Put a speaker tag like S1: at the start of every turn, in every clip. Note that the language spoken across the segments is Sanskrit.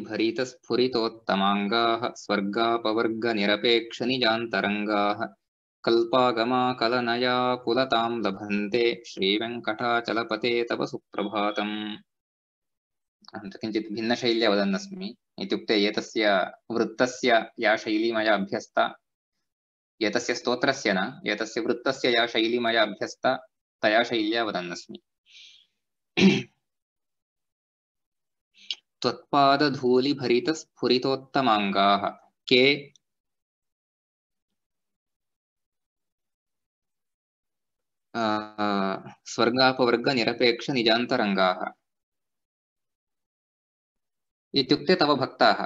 S1: धूलिभरितस्फुरितोत्तमाङ्गाः स्वर्गापवर्गनिरपेक्षनिजान्तरङ्गाः कल्पागमाकलनया कुलतां लभन्ते श्रीवेङ्कटाचलपते तव सुप्रभातम्। किञ्चित् भिन्नशैल्या वदन्नस्मि। इत्युक्ते एतस्य वृत्तस्य या शैली मया अभ्यस्ता, एतस्य स्तोत्रस्य न, एतस्य वृत्तस्य या शैली मया अभ्यस्ता तया शैल्या वदन्नस्मि। त्वत्पादधूलिभरितस्फुरितोत्तमाङ्गाः के स्वर्गापवर्गनिरपेक्षनिजान्तरङ्गाः। इत्युक्ते तव भक्ताः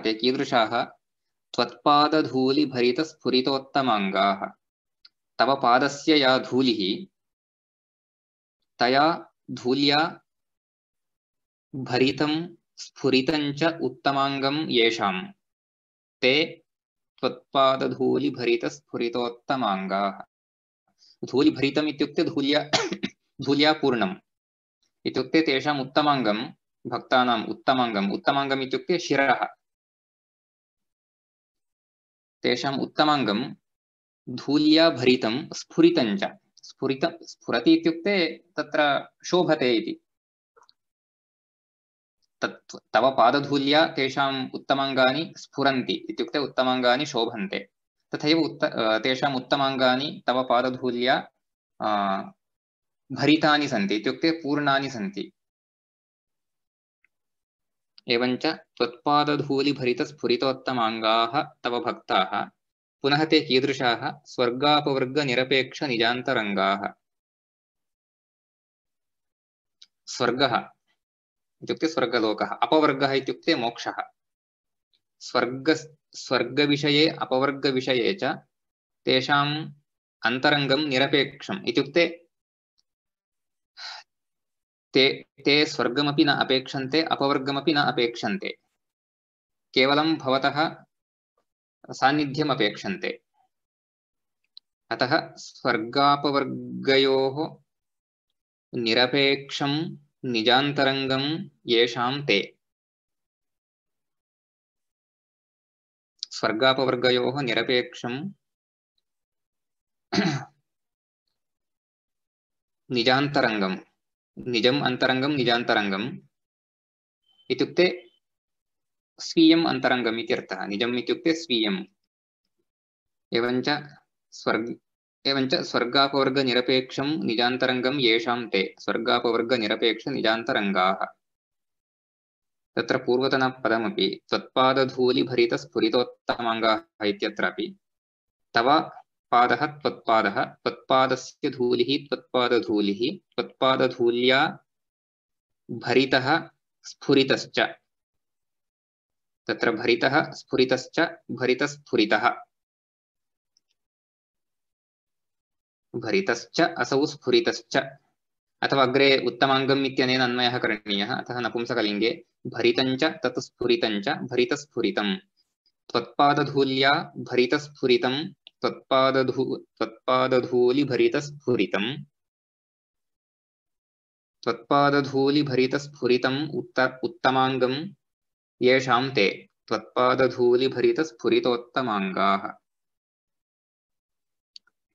S1: ते कीदृशाः? त्वत्पादधूलिभरितस्फुरितोत्तमाङ्गाः, तव पादस्य या धूलिः, तया धूल्या भरितं स्फुरितं च उत्तमाङ्गं येषां ते त्वत्पादधूलिभरितस्फुरितोत्तमाङ्गाः। धूलिभरितम् इत्युक्ते धूल्या पूर्णम् इत्युक्ते तेषाम् उत्तमाङ्गं, भक्तानाम् उत्तमाङ्गम् इत्युक्ते शिरः, तेषाम् उत्तमाङ्गं धूल्या भरितं स्फुरितं च। स्फुरति इत्युक्ते तत्र शोभते इति। तव पादधूल्या तेषाम् उत्तमाङ्गानि स्फुरन्ति इत्युक्ते उत्तमाङ्गानि शोभन्ते। तथैव तेषाम् उत्तमाङ्गानि तव पादधूल्या भरितानि सन्ति इत्युक्ते पूर्णानि सन्ति। एवञ्च त्वत्पादधूलिभरितस्फुरितोत्तमाङ्गाः तव भक्ताः पुनः ते कीदृशाः? स्वर्गापवर्गनिरपेक्षनिजान्तरङ्गाः। स्वर्गः इत्युक्ते स्वर्गलोकः, अपवर्गः इत्युक्ते मोक्षः। स्वर्गविषये अपवर्गविषये च तेषाम् अन्तरङ्गं निरपेक्षम् इत्युक्ते ते स्वर्गमपि न अपेक्षन्ते, अपवर्गमपि न अपेक्षन्ते, केवलं भवतः सान्निध्यम् अपेक्षन्ते। अतः स्वर्गापवर्गयोः निरपेक्षं निजान्तरङ्गं येषां ते। स्वर्गापवर्गयोः निरपेक्षं निजान्तरङ्गं, निजम् अन्तरङ्गं निजान्तरङ्गम् इत्युक्ते स्वीयम् अन्तरङ्गम् इत्यर्थः। निजम् इत्युक्ते स्वीयम्। एवञ्च स्वर्गापवर्गनिरपेक्षं निजान्तरङ्गं येषां ते स्वर्गापवर्गनिरपेक्षनिजान्तरङ्गाः। तत्र पूर्वतनपदमपि त्वत्पादधूलिभरितस्फुरितोत्तमाङ्गाः इत्यत्रापि तव पादः त्वत्पादः, त्वत्पादस्य धूलिः त्वत्पादधूलिः, त्वत्पादधूल्या भरितः स्फुरितश्च। तत्र भरितः स्फुरितश्च, भरितस्फुरितः, भरितश्च असौ स्फुरितश्च, अथवा अग्रे उत्तमाङ्गम् इत्यनेन अन्वयः करणीयः। अतः नपुंसकलिङ्गे भरितञ्च तत् स्फुरितञ्च भरितस्फुरितम्। त्वत्पादधूल्या भरितस्फुरितं, त्वत्पादधूलिभरितस्फुरितं, त्वत्पादधूलिभरितस्फुरितम् उत्तमाङ्गं येषां ते त्वत्पादधूलिभरितस्फुरितोत्तमाङ्गाः।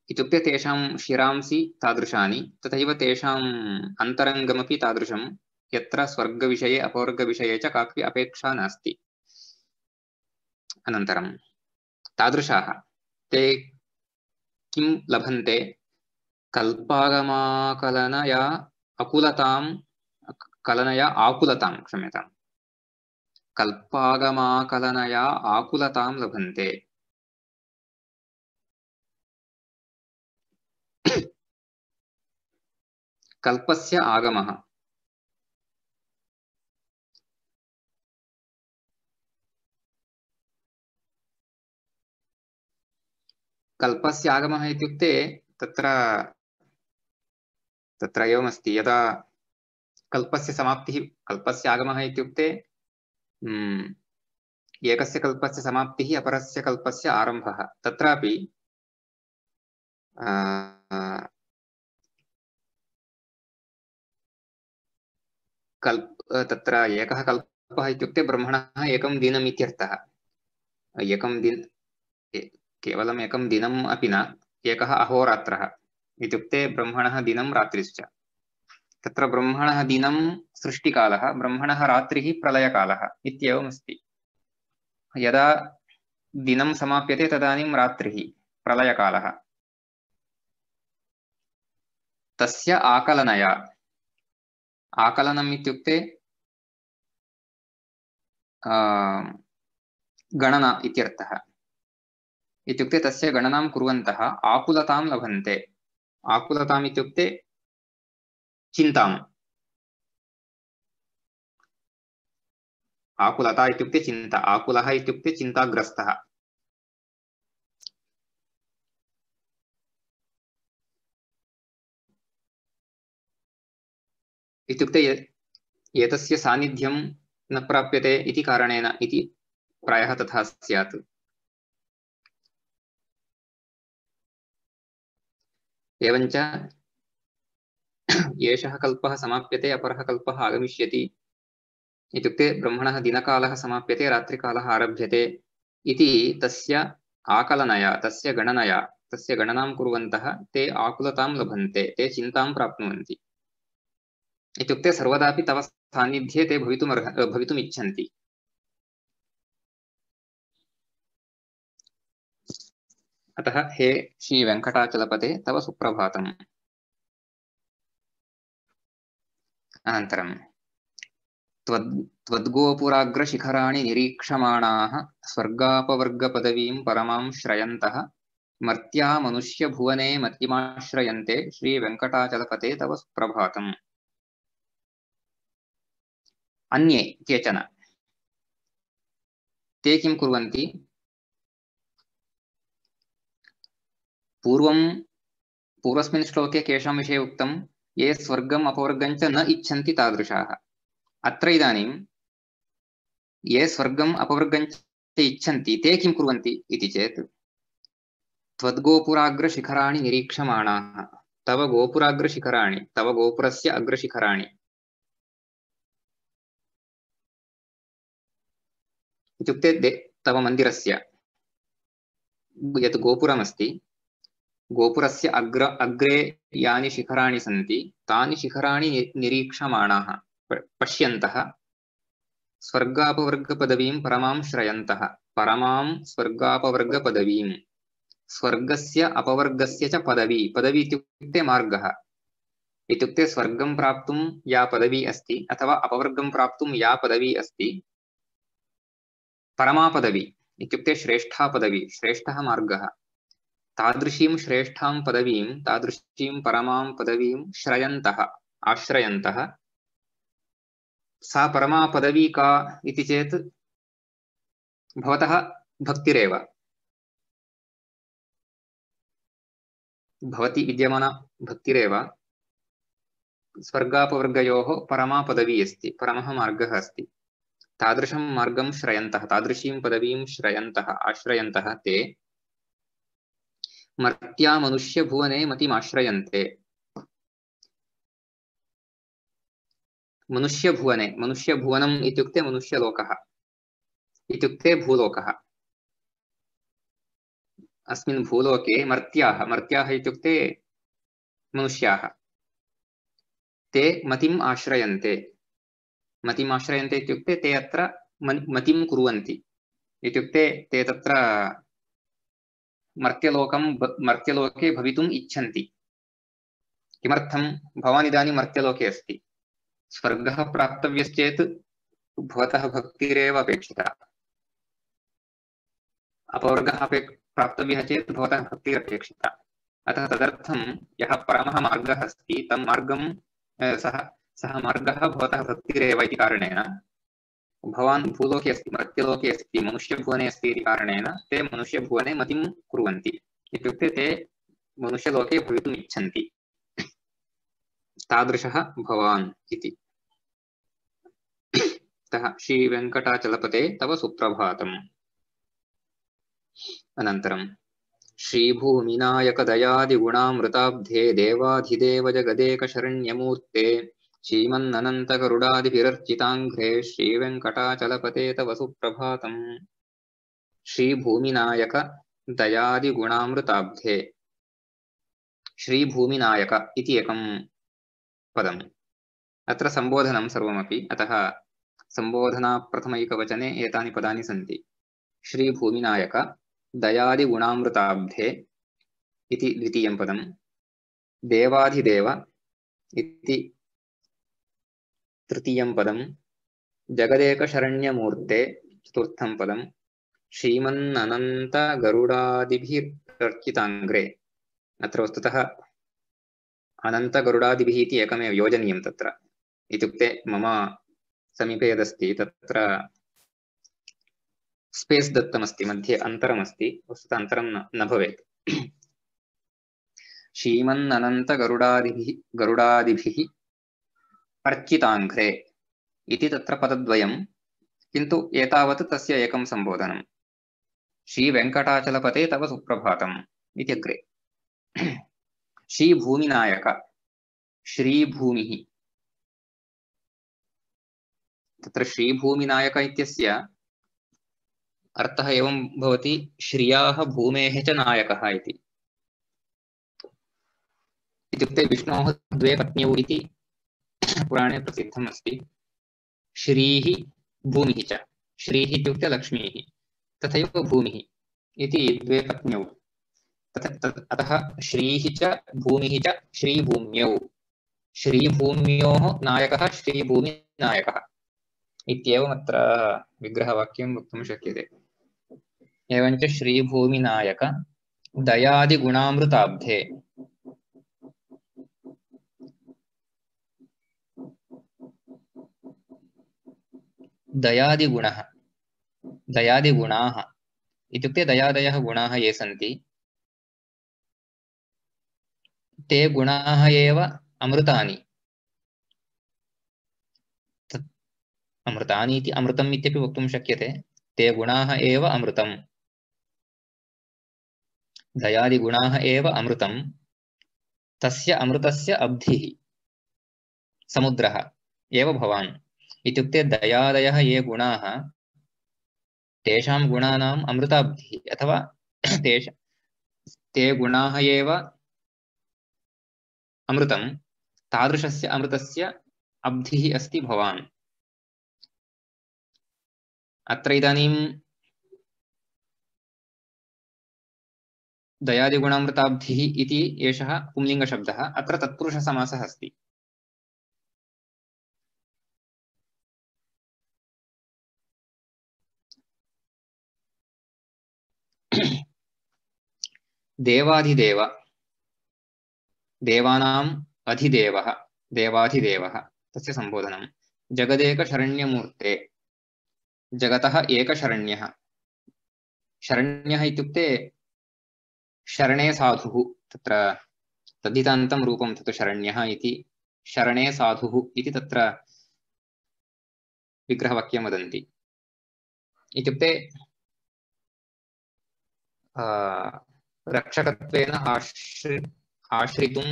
S1: इत्युक्ते तेषां शिरांसि तादृशानि, तथैव तेषाम् अन्तरङ्गमपि तादृशं यत्र स्वर्गविषये अपवर्गविषये च कापि अपेक्षा नास्ति। अनन्तरं तादृशाः ते किं लभन्ते? कल्पागमाकलनया आकुलतां क्षम्यताम्, कल्पागमाकलनया आकुलतां लभन्ते। कल्पस्य आगमः, कल्पस्य आगमः इत्युक्ते तत्र एवमस्ति, यदा कल्पस्य समाप्तिः, कल्पस्य आगमः इत्युक्ते एकस्य कल्पस्य समाप्तिः अपरस्य कल्पस्य आरम्भः। तत्रापि तत्र एकः कल्पः कल्पः इत्युक्ते ब्रह्मणः एकं दिनम् इत्यर्थः। एकं दिन केवलम् एकं दिनम् अपि न, एकः अहोरात्रः इत्युक्ते ब्रह्मणः दिनं रात्रिश्च। तत्र ब्रह्मणः दिनं सृष्टिकालः, ब्रह्मणः रात्रिः प्रलयकालः इत्येवमस्ति। यदा दिनं समाप्यते तदानीं रात्रिः प्रलयकालः। तस्य आकलनया, आकलनम् इत्युक्ते गणना इत्यर्थः। इत्युक्ते तस्य गणनां कुर्वन्तः आकुलतां लभन्ते। आकुलताम् इत्युक्ते चिन्ताम्। आकुलता इत्युक्ते चिन्ता, आकुलः इत्युक्ते चिन्ताग्रस्तः। इत्युक्ते एतस्य सान्निध्यं न प्राप्यते इति कारणेन इति प्रायः तथा स्यात्। एवञ्च एषः कल्पः समाप्यते अपरः कल्पः आगमिष्यति इत्युक्ते ब्रह्मणः दिनकालः समाप्यते रात्रिकालः आरभ्यते इति तस्य आकलनया, तस्य गणनया, तस्य गणनां कुर्वन्तः ते आकुलतां लभन्ते, ते चिन्तां प्राप्नुवन्ति। इत्युक्ते सर्वदापि तव सान्निध्ये ते भवितुम् इच्छन्ति। अतः हे श्री वेङ्कटाचलपते तव सुप्रभातम्। अनन्तरं त्वद्गोपुराग्रशिखराणि निरीक्षमाणाः स्वर्गापवर्गपदवीं परमां श्रयन्तः मर्त्या मनुष्यभुवने मतिमाश्रयन्ते श्रीवेङ्कटाचलपते तव सुप्रभातम्। अन्ये केचन ते किं कुर्वन्ति? पूर्वस्मिन् श्लोके केषां विषये उक्तं? ये स्वर्गम् अपवर्गं च न इच्छन्ति तादृशाः। अत्र इदानीं ये स्वर्गम् अपवर्गं च इच्छन्ति ते किं कुर्वन्ति इति चेत् त्वद्गोपुराग्रशिखराणि निरीक्षमाणाः, तव गोपुराग्रशिखराणि, तव गोपुरस्य अग्रशिखराणि इत्युक्ते तव मन्दिरस्य यत् गोपुरमस्ति, गोपुरस्य अग्रे यानि शिखराणि सन्ति तानि शिखराणि निरीक्षमाणाः पश्यन्तः स्वर्गापवर्गपदवीं परमां श्रयन्तः, परमां स्वर्गापवर्गपदवीं, स्वर्गस्य अपवर्गस्य च पदवी, पदवी इत्युक्ते मार्गः, इत्युक्ते स्वर्गं प्राप्तुं या पदवी अस्ति अथवा अपवर्गं प्राप्तुं या पदवी अस्ति, परमा पदवी इत्युक्ते श्रेष्ठा पदवी, श्रेष्ठः मार्गः, तादृशीं श्रेष्ठां पदवीं, तादृशीं परमां पदवीं श्रयन्तः, आश्रयन्तः। सा परमा पदवी का इति चेत् भवतः भक्तिरेव। भवति विद्यमाना भक्तिरेव स्वर्गापवर्गयोः परमा पदवी अस्ति, परमः मार्गः अस्ति। तादृशं मार्गं श्रयन्तः, तादृशीं पदवीं श्रयन्तः, आश्रयन्तः ते मर्त्या मनुष्यभुवने मतिमाश्रयन्ते। मनुष्यभुवने, मनुष्यभुवनम् इत्युक्ते मनुष्यलोकः, इत्युक्ते भूलोकः। अस्मिन् भूलोके मर्त्याः, मर्त्याः इत्युक्ते मनुष्याः, ते मतिम् आश्रयन्ते। मतिम् आश्रयन्ते इत्युक्ते ते अत्र मतिं कुर्वन्ति, इत्युक्ते ते तत्र मर्त्यलोके भवितुम् इच्छन्ति। किमर्थं? भवान् इदानीं मर्त्यलोके अस्ति, स्वर्गः प्राप्तव्यश्चेत् भवतः भक्तिरेव अपेक्षिता, अपवर्गः प्राप्तव्यः चेत् भवतः भक्तिरपेक्षिता। अतः तदर्थं यः परमः मार्गः अस्ति तं मार्गं सः मार्गः भवतः भक्तिरेव इति कारणेन भवान् भूलोके अस्ति, मर्त्यलोके अस्ति, मनुष्यभुवने अस्ति इति कारणेन ते मनुष्यभुवने मतिं कुर्वन्ति, इत्युक्ते ते मनुष्यलोके भवितुम् इच्छन्ति। तादृशः भवान् इति। अतः श्रीवेङ्कटाचलपते तव सुप्रभातम्। अनन्तरं श्रीभूमिनायकदयादिगुणामृताब्धे देवाधिदेव जगदेकशरण्यमूर्ते श्रीमन्ननन्तगरुडादिभिरर्चिताङ्घ्रे श्रीवेङ्कटाचलपते तव सुप्रभातम्। श्रीभूमिनायक दयादिगुणामृताब्धे। श्रीभूमिनायक इति एकं पदम्। अत्र सम्बोधनं सर्वमपि, अतः सम्बोधनाप्रथमैकवचने एतानि पदानि सन्ति। श्रीभूमिनायक दयादिगुणामृताब्धे इति द्वितीयं पदम्। देवाधिदेव इति तृतीयं पदम्। जगदेकशरण्यमूर्ते चतुर्थं पदम्। श्रीमन्ननन्तगरुडादिभिरर्चिताङ्घ्रे। अत्र वस्तुतः अनन्तगरुडादिभिः इति एकमेव योजनीयं तत्र, इत्युक्ते मम समीपे यदस्ति तत्र स्पेस् दत्तमस्ति, मध्ये अन्तरमस्ति, वस्तुतः अन्तरं न भवेत्। गरुडादिभिः अर्चिताङ्घ्रे इति तत्र पदद्वयं, किन्तु एतावत् तस्य एकं सम्बोधनं। श्रीवेङ्कटाचलपते तव सुप्रभातम् इति अग्रे। श्रीभूमिनायक, श्रीभूमिः। तत्र श्रीभूमिनायक इत्यस्य अर्थः एवं भवति, श्रियाः भूमेः च नायकः इति। इत्युक्ते विष्णोः द्वे पत्न्यौ इति पुराणे प्रसिद्धम् अस्ति। श्रीः भूमिः च। श्रीः इत्युक्ते लक्ष्मीः, तथैव भूमिः इति द्वे पत्न्यौ। अतः श्रीः च भूमिः च श्रीभूम्यौ। श्रीभूम्योः नायकः श्रीभूमिनायकः इत्येवमत्र विग्रहवाक्यं वक्तुं शक्यते। एवञ्च श्रीभूमिनायक दयादिगुणामृताब्धे। दयादिगुणः, दयादिगुणाः इत्युक्ते दयादयः गुणाः ये सन्ति ते गुणाः एव अमृतानि। अमृतानि इति अमृतम् इत्यपि वक्तुं शक्यते। ते गुणाः एव अमृतम्। दयादिगुणाः एव अमृतम्। तस्य अमृतस्य अब्धिः समुद्रः एव भवान्। इत्युक्ते दयादयः ये गुणाः तेषां गुणानाम् अमृताब्धिः अथवा ते गुणाः एव अमृतं, तादृशस्य अमृतस्य अब्धिः अस्ति भवान्। अत्र इदानीं दयादिगुणामृताब्धिः इति एषः पुंलिङ्गशब्दः, अत्र तत्पुरुषसमासः अस्ति। देवाधिदेव, देवानाम् अधिदेवः, देवाधिदेवः, तस्य सम्बोधनं। जगदेकशरण्यमूर्ते, जगतः एकशरण्यः। शरण्यः इत्युक्ते शरणे साधुः, तत्र तद्धितान्तं रूपं तत् शरण्यः इति। शरणे साधुः इति तत्र विग्रहवाक्यं वदन्ति। इत्युक्ते रक्षकत्वेन आश्रितुं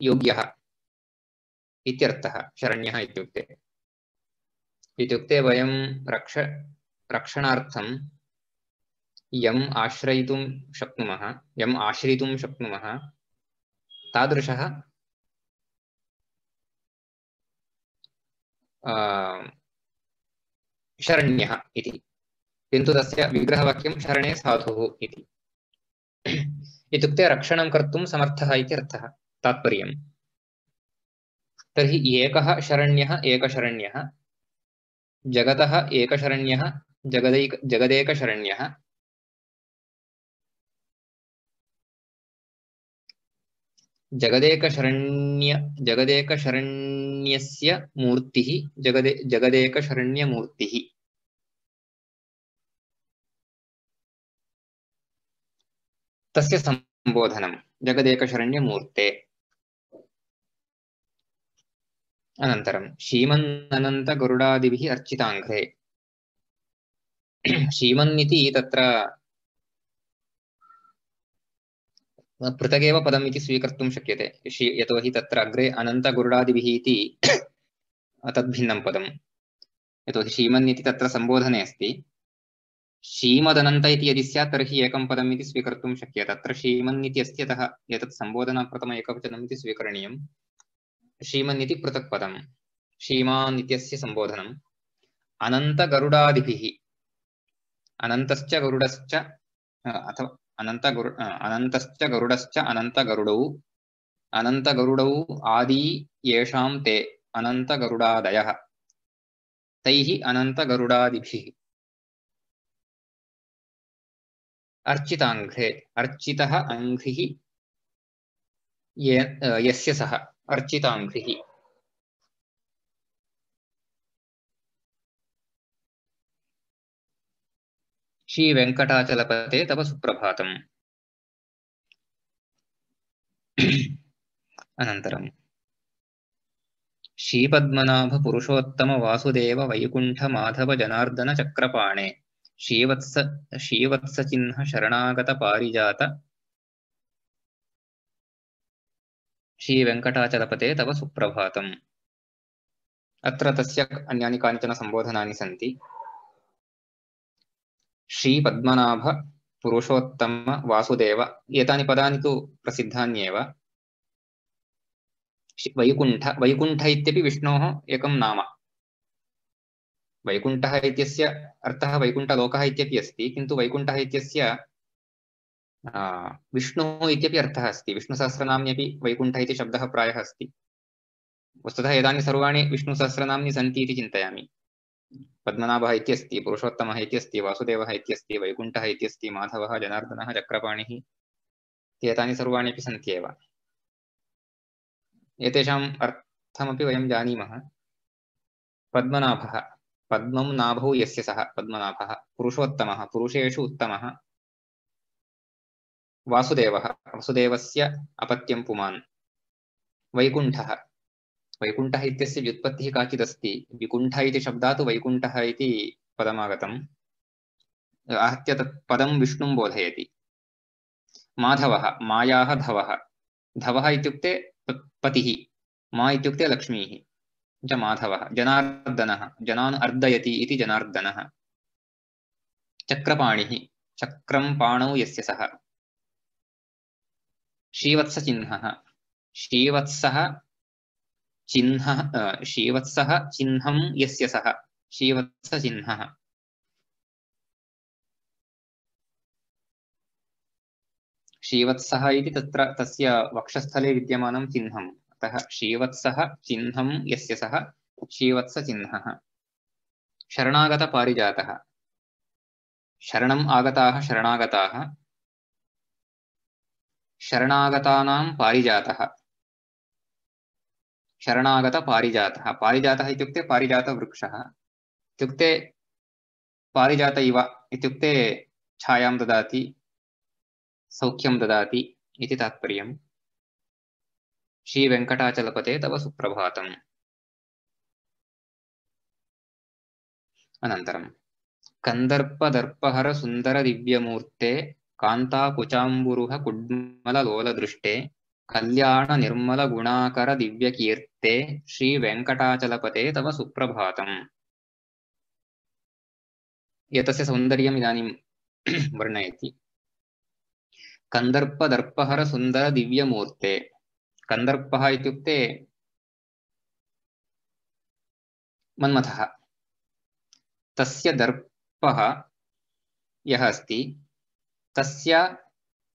S1: योग्यः इत्यर्थः शरण्यः इत्युक्ते। इत्युक्ते वयं रक्षणार्थं यम् आश्रयितुं शक्नुमः, यम् आश्रितुं शक्नुमः, तादृशः शरण्यः इति। किन्तु तस्य विग्रहवाक्यं शरणे साधुः इति। इत्युक्ते रक्षणं कर्तुं समर्थः इति अर्थः, तात्पर्यम्। तर्हि एकः शरण्यः एकशरण्यः, जगतः एकशरण्यः जगदेकशरण्यः, जगदेकशरण्यस्य मूर्तिः जगदेकशरण्यमूर्तिः। तस्य सम्बोधनं जगदेकशरण्यमूर्ते। अनन्तरं श्रीमन्ननन्तगरुडादिभिः अर्चिताङ्घ्रे। श्रीमन् इति तत्र पृथगेव पदम् इति स्वीकर्तुं शक्यते। यतोहि तत्र अग्रे अनन्तगरुडादिभिः इति तद्भिन्नं पदम्। यतोहि श्रीमन् इति तत्र सम्बोधने अस्ति। श्रीमदनन्त इति यदि स्यात् तर्हि एकं पदम् इति स्वीकर्तुं शक्यते। तत्र श्रीमन् इति अस्ति, अतः एतत् सम्बोधनाप्रथम एकवचनम् इति स्वीकरणीयम्। श्रीमन् इति पृथक् पदम्। श्रीमान् इत्यस्य सम्बोधनम्। अनन्तगरुडादिभिः, अनन्तश्च गरुडश्च अथवा अनन्तश्च गरुडश्च अनन्तगरुडौ, अनन्तगरुडौ आदि येषां ते अनन्तगरुडादयः, तैः अनन्तगरुडादिभिः। अर्चिताङ्घ्रे, अर्चितः अङ्घ्रिः यस्य सः, अर्चिताङ्घ्रिः। श्रीवेङ्कटाचलपते तव सुप्रभातम्। अनन्तरं श्रीपद्मनाभ पुरुषोत्तम वासुदेव वैकुण्ठ माधव जनार्दन चक्रपाणे श्रीवत्स चिह्न शरणागत पारिजात श्रीवेङ्कटाचलपते तव सुप्रभातम्। अत्र तस्य अन्यानि कानिचन सम्बोधनानि सन्ति। श्रीपद्मनाभ पुरुषोत्तम वासुदेव, एतानि पदानि तु प्रसिद्धान्येव। वैकुण्ठ, वैकुण्ठ इत्यपि विष्णोः एकं नाम। वैकुण्ठः इत्यस्य अर्थः वैकुण्ठलोकः इत्यपि अस्ति, किन्तु वैकुण्ठः इत्यस्य विष्णुः इत्यपि अर्थः अस्ति। विष्णुसहस्रनाम्न्यपि वैकुण्ठ इति शब्दः प्रायः अस्ति। वस्तुतः एतानि सर्वाणि विष्णुसहस्रनाम्नि सन्ति इति चिन्तयामि। पद्मनाभः इत्यस्ति, पुरुषोत्तमः इत्यस्ति, वासुदेवः इत्यस्ति, वैकुण्ठः इत्यस्ति, माधवः, जनार्दनः, चक्रपाणिः, एतानि सर्वाणि अपि सन्त्येव। एतेषाम् अर्थमपि वयं जानीमः। पद्मनाभः, पद्मं नाभौ यस्य सः पद्मनाभः। पुरुषोत्तमः, पुरुषेषु उत्तमः। वासुदेवः, वसुदेवस्य अपत्यं पुमान्। वैकुण्ठः, वैकुण्ठः इत्यस्य व्युत्पत्तिः काचिदस्ति। विकुण्ठ इति शब्दात् वैकुण्ठः इति पदमागतम्। आहत्य तत् पदं विष्णुं बोधयति। माधवः, मायाः धवः। धवः इत्युक्ते पतिः, मा इत्युक्ते लक्ष्मीः च माधवः। जनार्दनः, जनान् अर्दयति इति जनार्दनः। चक्रपाणिः, चक्रं पाणौ यस्य सः। श्रीवत्सचिह्नः, श्रीवत्सः चिह्नः, श्रीवत्सः चिह्नं यस्य सः, श्रीवत्सचिह्नः। श्रीवत्सः इति तत्र तस्य वक्षस्थले विद्यमानं चिह्नम्, अतः श्रीवत्सः चिह्नं यस्य सः श्रीवत्सचिह्नः। शरणागतपारिजातः, शरणम् आगताः शरणागताः, शरणागतानां पारिजातः। शरणागतपारिजातः, पारिजातः इत्युक्ते पारिजातवृक्षः इत्युक्ते पारिजात इव इत्युक्ते छायां ददाति, सौख्यं ददाति इति तात्पर्यम्। श्रीवेङ्कटाचलपते तव सुप्रभातम्। अनन्तरं कन्दर्पदर्पहर सुन्दर दिव्यमूर्ते कान्ताकुचाम्बुरुह कुड्मललोलदृष्टे कल्याण निर्मल गुणाकर दिव्यकीर्ते श्रीवेङ्कटाचलपते तव सुप्रभातम्। एतस्य सौन्दर्यम् इदानीं वर्णयति। कन्दर्पदर्पहर सुन्दर दिव्यमूर्ते। कन्दर्पः इत्युक्ते मन्मथः। तस्य दर्पः यः अस्ति, तस्य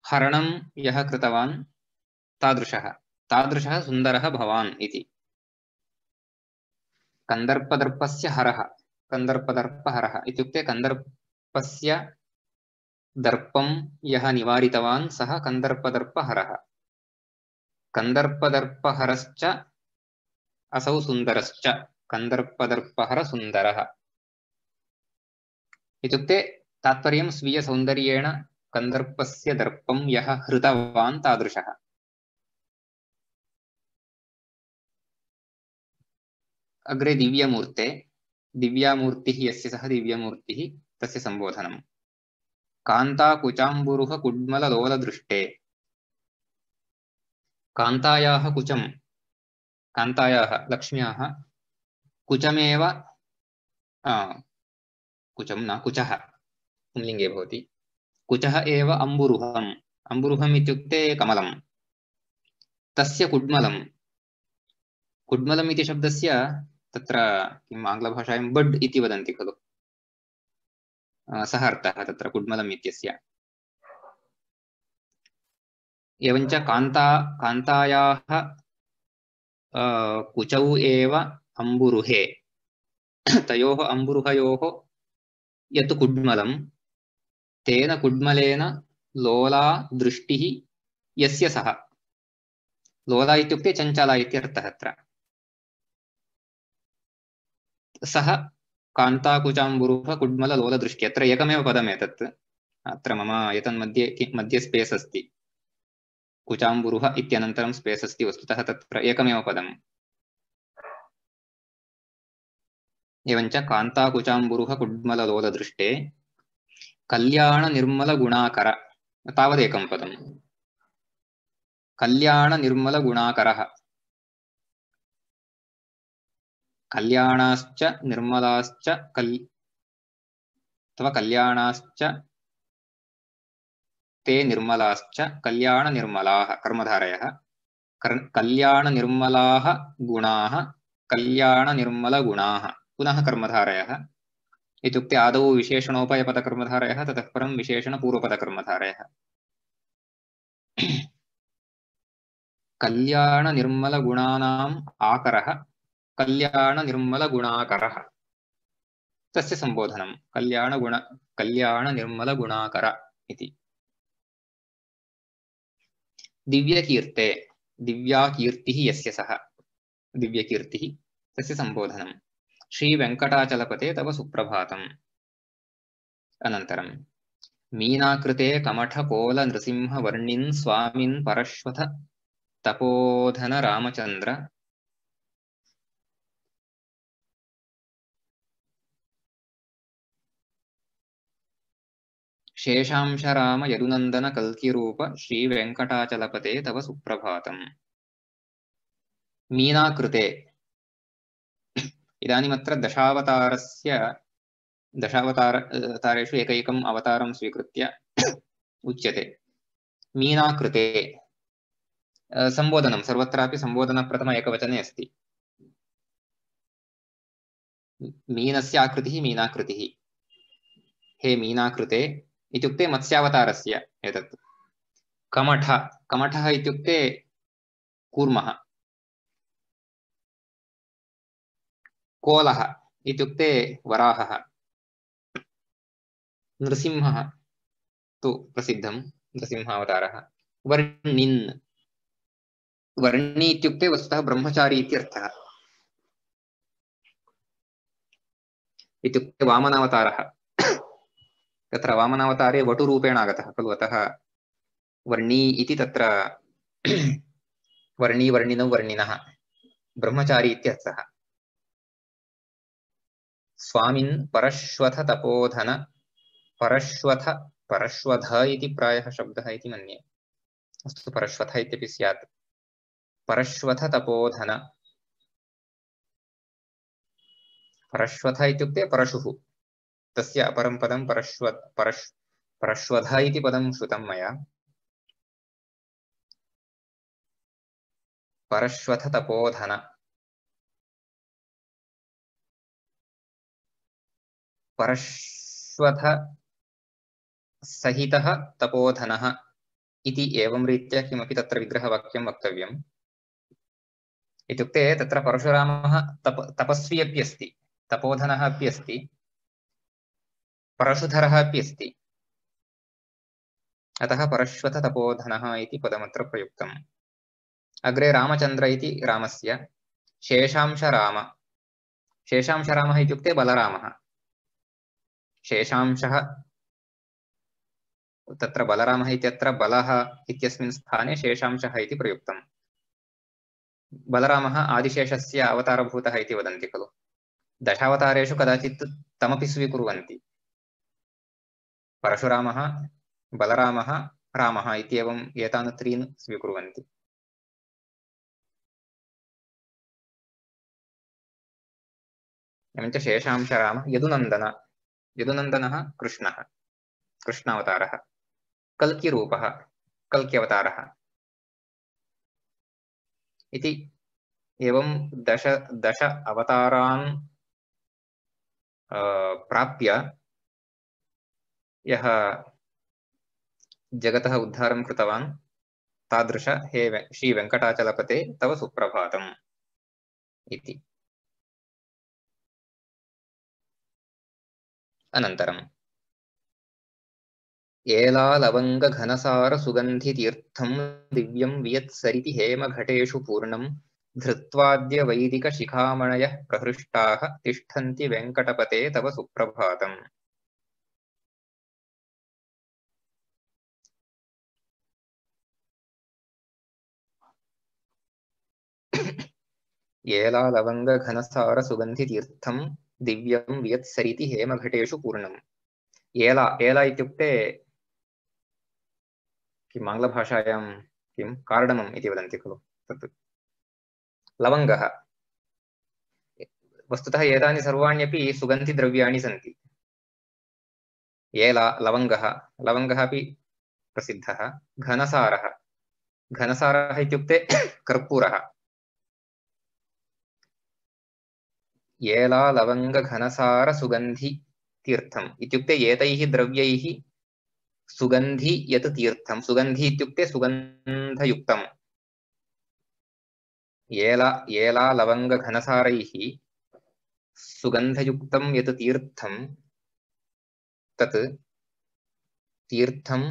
S1: हरणं यः कृतवान्, तादृशः सुन्दरः भवान् इति। कन्दर्पदर्पस्य हरः, कन्दर्पदर्पहरः इत्युक्ते कन्दर्पस्य दर्पं यः निवारितवान् सः कन्दर्पदर्पहरः। कन्दर्पदर्पहरश्च असौ सुन्दरश्च, कन्दर्पदर्पहर सुन्दरः इत्युक्ते तात्पर्यं स्वीयसौन्दर्येण कन्दर्पस्य दर्पं यः हृतवान् तादृशः। अग्रे दिव्यमूर्ते, दिव्यामूर्तिः यस्य सः दिव्यमूर्तिः तस्य सम्बोधनम्। कान्ताकुचाम्बुरुह कुड्मललोलदृष्टे, कान्तायाः कुचं कान्तायाः लक्ष्म्याः कुचमेव कुचं न कुचः पुंलिङ्गे भवति कुचः एव अम्बुरुहम् अम्बुरुहम् इत्युक्ते कमलं तस्य कुड्मलम् इति शब्दस्य तत्र किम् आङ्ग्लभाषायां बड् इति वदन्ति खलु सः अर्थः तत्र कुड्मलम् इत्यस्य एवञ्च कान्तायाः कुचौ एव अम्बुरुहे तयोः अम्बुरुहयोः यत् कुड्मलं तेन कुड्मलेन लोला दृष्टिः यस्य सः लोला इत्युक्ते चञ्चला इत्यर्थः अत्र सः कान्ताकुचाम्बुरुह कुड्मल लोलदृष्टि अत्र एकमेव पदम् एतत् अत्र मम एतन्मध्ये स्पेस् अस्ति कुचाम्बुरुह इत्यनन्तरं स्पेस् अस्ति वस्तुतः तत्र एकमेव पदम् एवञ्च कान्ताकुचाम्बुरुह कुड्मल लोलदृष्टे कल्याण निर्मल गुणाकर तावदेकं पदम् कल्याण निर्मल गुणाकरः कल्याणाश्च निर्मलाश्च अथवा कल्याणाश्च ते निर्मलाश्च कल्याण निर्मलाः कर्मधारयः कल्याण निर्मलाः गुणाः कल्याण निर्मल गुणाः पुनः कर्मधारयः इत्युक्ते आदौ विशेषणोपयपदकर्मधारयः ततः परं विशेषणपूर्वपदकर्मधारयः कल्याण निर्मल गुणानाम् आकरः कल्याण निर्मल गुणाकरः तस्य संबोधनं कल्याण निर्मल गुणाकर इति दिव्यकीर्ते दिव्या कीर्तिः यस्य सः दिव्यकीर्तिः तस्य संबोधनं श्रीवेङ्कटाचलपते तव सुप्रभातम् अनन्तरं मीनाकृते कमठकोल नृसिंहवर्णिन् स्वामिन् परश्वथ तपोधन रामचन्द्र शेषांशराम यदुनन्दन कल्किरूप श्रीवेङ्कटाचलपते तव सुप्रभातम् मीनाकृते इदानीमत्र दशावतारेषु एकैकम् अवतारं स्वीकृत्य उच्यते मीनाकृते संबोधनं सर्वत्रापि संबोधनप्रथम एकवचने अस्ति मीनस्य आकृतिः मीनाकृतिः हे मीनाकृते इत्युक्ते मत्स्यावतारस्य एतत् कमठः इत्युक्ते कूर्मः कोलः इत्युक्ते वराहः नृसिंहः तु प्रसिद्धं नृसिंहावतारः वर्णी इत्युक्ते वस्तुतः ब्रह्मचारी इत्यर्थः इत्युक्ते वामनावतारः तत्र वामनावतारे वटुरूपेण आगतः खलु अतः वर्णी इति तत्र वर्णिनौ वर्णिनः ब्रह्मचारी इत्यर्थः स्वामिन् परश्वथ तपोधन परश्वथ इति प्रायः शब्दः इति मन्ये अस्तु परश्वथ इत्यपि स्यात् परश्वथ तपोधन परश्वथ इत्युक्ते परशुः तस्य अपरं पदं परश्वध इति पदं श्रुतं मया परश्वथ तपोधन परश्वथ सहितः तपोधनः इति एवं रीत्या किमपि तत्र विग्रहवाक्यं वक्तव्यम् इत्युक्ते तत्र परशुरामः तपस्वी अपि अस्ति तपोधनः अपि अस्ति परशुधरः अपि अस्ति अतः परश्वथ तपोधनः इति पदमत्र प्रयुक्तम् अग्रे रामचन्द्र इति रामस्य शेषांशरामः इत्युक्ते बलरामः शेषांशः तत्र बलरामः इत्यत्र बलः इत्यस्मिन् स्थाने शेषांशः इति प्रयुक्तम् बलरामः आदिशेषस्य अवतारभूतः इति वदन्ति खलु दशावतारेषु कदाचित् तमपि स्वीकुर्वन्ति परशुरामः बलरामः रामः इत्येवम् एतान् त्रीन् स्वीकुर्वन्ति एवञ्च शेषांशराम यदुनन्दन यदुनन्दनः कृष्णः कृष्णावतारः कल्किरूपः कल्क्यवतारः इति एवं दश अवतारान् प्राप्य यः जगतः उद्धारं कृतवान् तादृश हे श्रीवेङ्कटाचलपते तव सुप्रभातम् इति। अनन्तरम् एलालवङ्गघनसारसुगन्धितीर्थं दिव्यं वियत्सरिति हेमघटेषु पूर्णं धृत्वाद्य वैदिकशिखामणयः प्रहृष्टाः तिष्ठन्ति वेङ्कटपते तव सुप्रभातम्। एलालवङ्गघनसारसुगन्धितीर्थं दिव्यं वियत्सरिति हेमघटेषु पूर्णम्। एला एला इत्युक्ते किम् आङ्ग्लभाषायां किं कार्डमम् इति वदन्ति खलु तत् लवङ्गः। वस्तुतः एतानि सर्वाण्यपि सुगन्धिद्रव्याणि सन्ति। एला लवङ्गः लवङ्गः अपि प्रसिद्धः। घनसारः घनसारः इत्युक्ते कर्पूरः। एला लवङ्गघनसारसुगन्धितीर्थम् इत्युक्ते एतैः द्रव्यैः सुगन्धि यत् तीर्थं सुगन्धि इत्युक्ते सुगन्धयुक्तम्। एला लवङ्गघनसारैः सुगन्धयुक्तं यत् तीर्थं तत् तीर्थं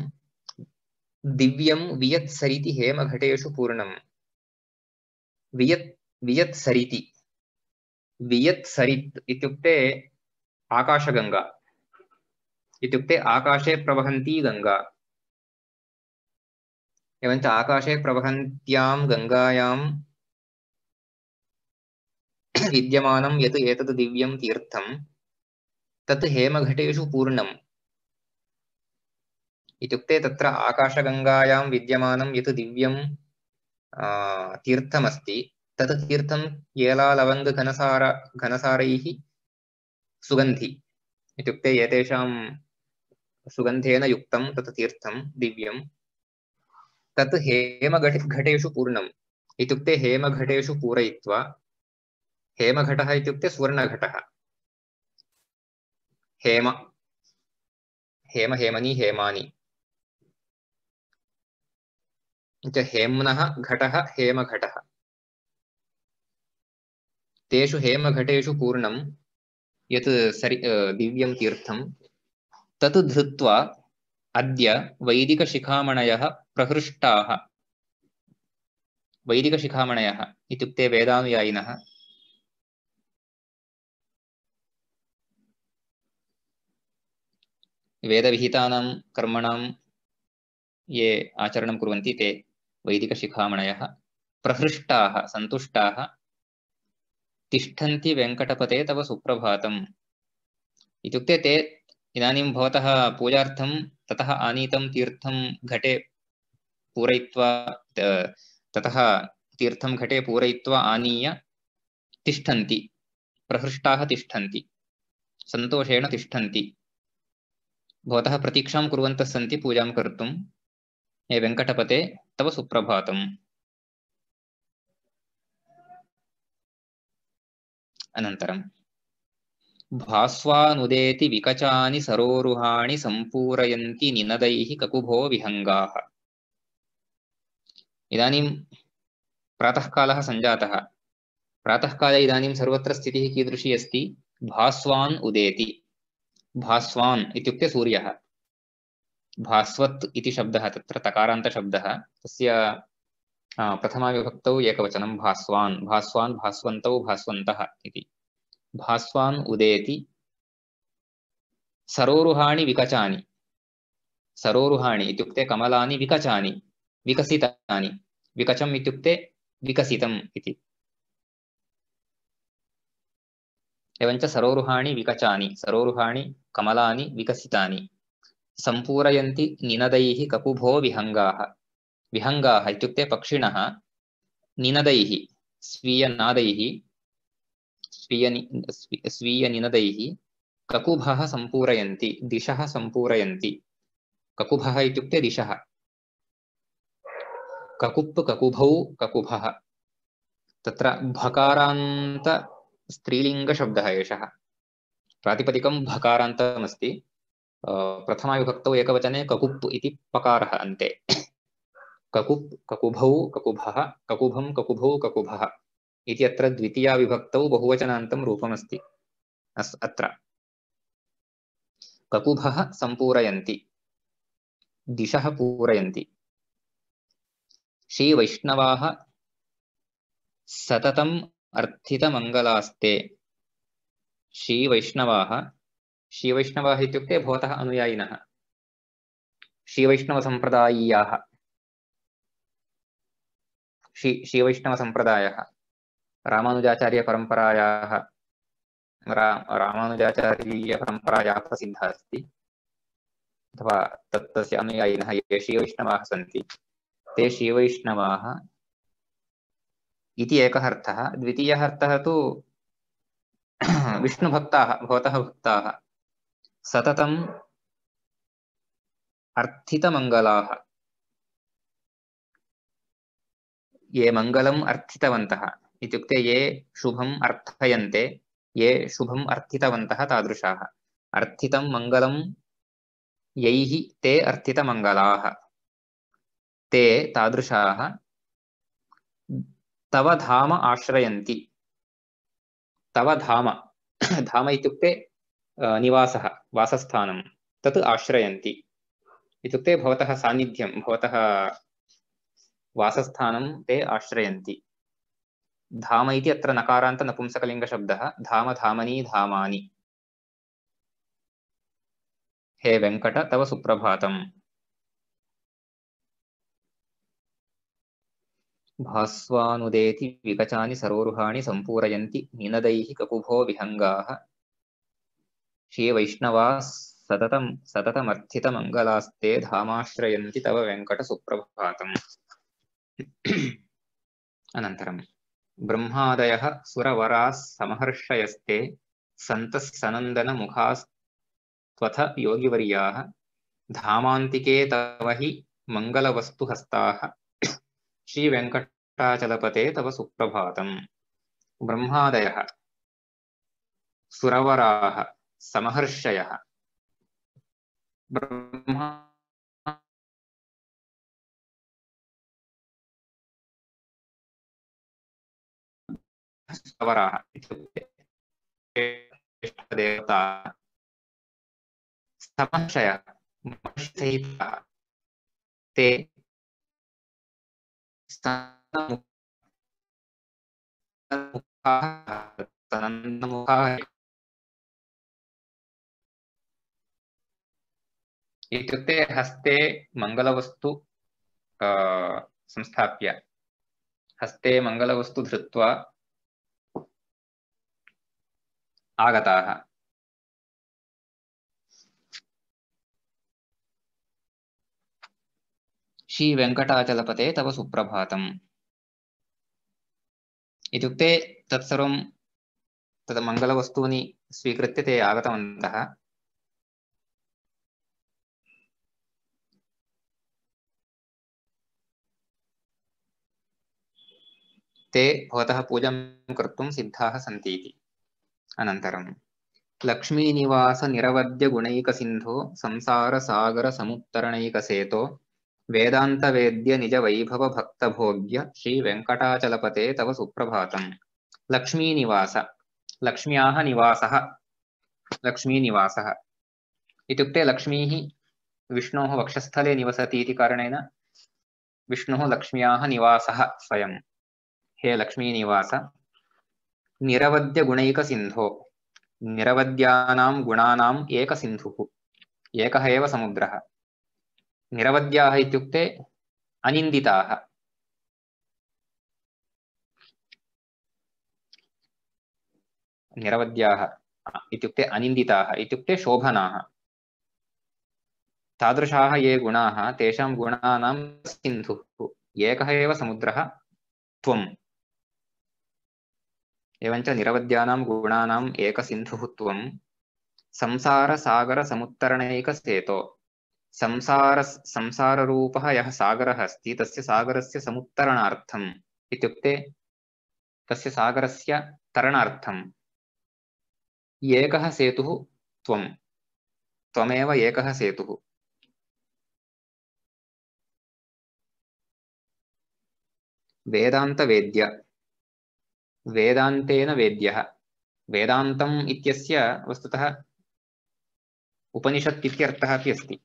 S1: दिव्यं वियत्सरिति हेमघटेषु पूर्णम्। वियत्सरिति वियत्सरित् इत्युक्ते आकाशगंगा इत्युक्ते आकाशे प्रवहन्ती गंगा। एवञ्च आकाशे प्रवहन्त्यां गंगायां विद्यमानं यत् एतत् दिव्यं तीर्थं तत् हेमघटेषु पूर्णम्। इत्युक्ते तत्र आकाशगंगायां विद्यमानं यत् दिव्यं तीर्थमस्ति तत् तीर्थं एलालवङ्गघनसारैः सुगन्धि इत्युक्ते एतेषां सुगन्धेन युक्तं तत् तीर्थं दिव्यं तत् हेमघटेषु पूर्णम्। इत्युक्ते हेमघटेषु पूरयित्वा हेमघटः इत्युक्ते सुवर्णघटः। हेम हेम हेमनी हेमानि हेम्नः घटः हेमघटः तेषु हेमघटेषु पूर्णं यत् दिव्यं तीर्थं तत् धृत्वा अद्य वैदिकशिखामणयः प्रहृष्टाः। वैदिकशिखामणयः इत्युक्ते वेदानुयायिनः। वेदविहितानां कर्मणां ये आचरणं कुर्वन्ति ते वैदिकशिखामणयः प्रहृष्टाः सन्तुष्टाः तिष्ठन्ति वेङ्कटपते तव सुप्रभातम्। इत्युक्ते ते इदानीं भवतः पूजार्थं ततः आनीतं तीर्थं घटे पूरयित्वा ततः तीर्थं घटे पूरयित्वा आनीय तिष्ठन्ति प्रहृष्टाः तिष्ठन्ति सन्तोषेण तिष्ठन्ति भवतः प्रतीक्षां कुर्वन्तः सन्ति पूजां कर्तुं। हे वेङ्कटपते तव सुप्रभातम्। अनन्तरं भास्वानुदेति विकचानि सरोरुहाणि सम्पूरयन्ति निनदैः ककुभो विहङ्गाः। इदानीं प्रातःकालः सञ्जातः। प्रातःकाले इदानीं सर्वत्र स्थितिः कीदृशी अस्ति? भास्वान् उदेति। भास्वान् इत्युक्ते सूर्यः। भास्वत् इति शब्दः तत्र तकारान्तशब्दः तस्य प्रथमाविभक्तौ एकवचनं भास्वान् भास्वान् भास्वन्तौ भास्वन्तः इति। भास्वान् उदेति सरोरुहाणि विकचानि। सरोरुहाणि इत्युक्ते कमलानि विकचानि विकसितानि। विकचम् इत्युक्ते विकसितम् इति। एवञ्च सरोरुहाणि विकचानि सरोरुहाणि कमलानि विकसितानि सम्पूरयन्ति निनदैः ककुभो विहङ्गाः। विहङ्गाः इत्युक्ते पक्षिणः निनदैः स्वीयनादैः स्वीयनिनदैः ककुभः सम्पूरयन्ति दिशः सम्पूरयन्ति ककुभः इत्युक्ते दिशः ककुप् ककुभौ ककुभः तत्र भकारान्त स्त्रीलिङ्गशब्दः एषः प्रातिपदिकं भकारान्तमस्ति प्रथमाविभक्तौ एकवचने ककुप् इति पकारः अन्ते ककुप् ककुभौ ककुभः ककुभं ककुभौ ककुभः इति अत्र द्वितीया विभक्तौ बहुवचनान्तं रूपमस्ति अत्र ककुभः सम्पूरयन्ति दिशः पूरयन्ति श्रीवैष्णवाः सततम् अर्थितमङ्गलास्ते श्रीवैष्णवाः श्रीवैष्णवाः इत्युक्ते भवतः अनुयायिनः श्रीवैष्णवसम्प्रदायीयाः श्रीवैष्णवसम्प्रदायः रामानुजाचार्यपरम्परायाः रामानुजाचार्यपरम्परायाः प्रसिद्धः अस्ति अथवा तस्य अनुयायिनः ये श्रीवैष्णवाः सन्ति ते श्रीवैष्णवाः इति एकः अर्थः द्वितीयः अर्थः तु विष्णुभक्ताः भवतः भक्ताः सततम् अर्थितमङ्गलाः ये मङ्गलम् अर्थितवन्तः इत्युक्ते ये शुभम् अर्थयन्ते ये शुभम् अर्थितवन्तः तादृशाः अर्थितं मङ्गलं यैः ते अर्थितमङ्गलाः ते तादृशाः तव धाम आश्रयन्ति तव धाम धाम इत्युक्ते निवासः वासस्थानं तत् आश्रयन्ति इत्युक्ते भवतः सान्निध्यं भवतः वासस्थानं ते आश्रयन्ति धाम इति अत्र नकारान्त नपुंसकलिङ्गशब्दः धाम धामनी धामानि हे वेङ्कट तव सुप्रभातम् भास्वानुदेति विकचानि सरोरुहाणि सम्पूरयन्ति निनदैः ककुभो विहङ्गाः श्रीवैष्णवाः सततमर्थितमङ्गलास्ते धामाश्रयन्ति तव वेङ्कट सुप्रभातम् अनन्तरं ब्रह्मादयः सुरवराः समहर्षयस्ते सन्तः सनन्दनमुखास्त्वथ योगिवर्याः धामान्तिके तव हि मङ्गलवस्तुहस्ताः श्रीवेङ्कटाचलपते तव सुप्रभातम् ब्रह्मादयः सुरवराः समहर्षयः ब्रह्मा सुरवराः इत्युक्ते देवता समहर्षयः महर्षिसहिताः ते इत्युक्ते हस्ते मङ्गलवस्तु संस्थाप्य हस्ते मङ्गलवस्तु धृत्वा आगताः श्रीवेङ्कटाचलपते तव सुप्रभातम् इत्युक्ते तत्सर्वं तत् मङ्गलवस्तूनि स्वीकृत्य ते आगतवन्तः ते भवतः पूजां कर्तुं सिद्धाः सन्ति इति अनन्तरं लक्ष्मीनिवास निरवद्यगुणैकसिन्धो संसारसागरसमुत्तरणैकसेतो वेदान्तवेद्य निजवैभव भक्तभोग्य श्रीवेङ्कटाचलपते तव सुप्रभातम् लक्ष्मीनिवास लक्ष्म्याः निवासः लक्ष्मीनिवासः इत्युक्ते लक्ष्मीः विष्णोः वक्षस्थले निवसति इति कारणेन विष्णुः लक्ष्म्याः निवासः स्वयं हे लक्ष्मीनिवास निरवद्यगुणैकसिन्धो निरवद्यानां गुणानाम् एकसिन्धुः एकः एव समुद्रः निरवद्याः इत्युक्ते अनिन्दिताः निरवद्याः इत्युक्ते अनिन्दिताः इत्युक्ते शोभनाः तादृशाः ये गुणाः तेषां गुणानां सिन्धुः एकः एव समुद्रः त्वं एवञ्च निरवध्यानां गुणानाम् एकसिन्धुः त्वं संसारसागरसमुत्तरणैकसेतो संसाररूपः यः सागरः अस्ति तस्य सागरस्य समुत्तरणार्थम् इत्युक्ते तस्य सागरस्य तरणार्थम् एकः सेतुः त्वं त्वमेव एकः सेतुः वेदान्तवेद्य वेदान्तेन वेद्यः वेदान्तम् इत्यस्य वस्तुतः उपनिषत् इत्यर्थः अपि अस्ति